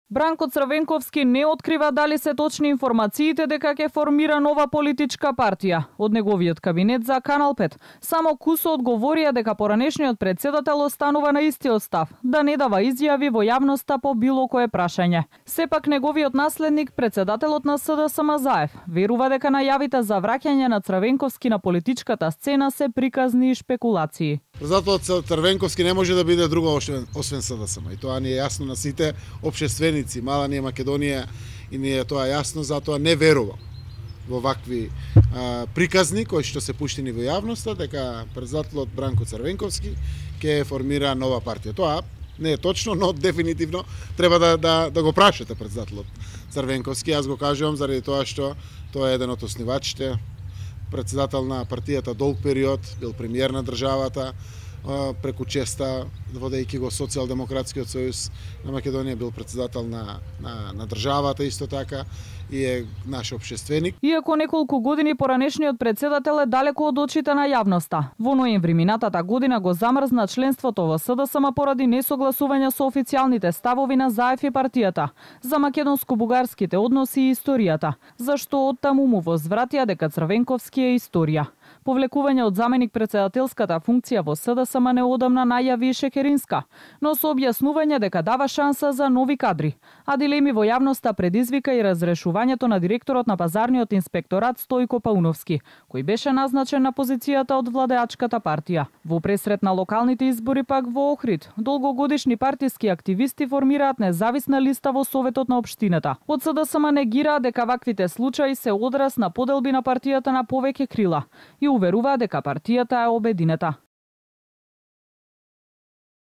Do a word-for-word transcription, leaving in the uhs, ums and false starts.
Бранко Црвенковски не открива дали се точни информациите дека ќе формира нова политичка партија. Од неговиот кабинет за Канал пет само кусо одговорија дека поранешниот председател останува на истиот став, да не дава изјави во јавноста по било кое прашање. Сепак неговиот наследник, председателот на СДСМ Заев, верува дека најавите за враќање на Црвенковски на политичката сцена се приказни и шпекулации. Председателот Црвенковски не може да биде друго освен, освен СДСМ. И тоа ни е јасно на сите општественици. Мала ни е Македонија и ни е тоа јасно, затоа не верувам во вакви а, приказни кои што се пуштени во јавноста, дека председателот Бранко Црвенковски ќе формира нова партија. Тоа не е точно, но дефинитивно треба да, да, да го прашате председателот Црвенковски. Јас го кажувам заради тоа што тоа е еден од основачите, председател на партијата долг период, бил премиер на државата, преку честа, водејќи го Социјалдемократскиот сојуз на Македонија, бил председател на, на, на државата исто така и е наш општественик. Иако неколку години поранешниот председател е далеко од очите на јавноста. Во ноември минатата година го замрзна членството во СДСМ поради несогласување со официјалните ставови на Заев и партијата за македонско-бугарските односи и историјата, зашто оттаму му возвратија дека Црвенковски е историја. Повлекување од заменик председателската функција во СДСМ неодамна најави Шекеринска, но со објаснување дека дава шанса за нови кадри, а дилеми во јавноста предизвика и разрешувањето на директорот на пазарниот инспекторат Стојко Пауновски, кој беше назначен на позицијата од владеачката партија. Во пресрет на локалните избори пак во Охрид, долгогодишни партиски активисти формираат независна листа во Советот на општината. Од СДСМ негираат дека ваквите случаи се одраз на поделби на партијата на повеќе крила и уверува дека партијата е обединета.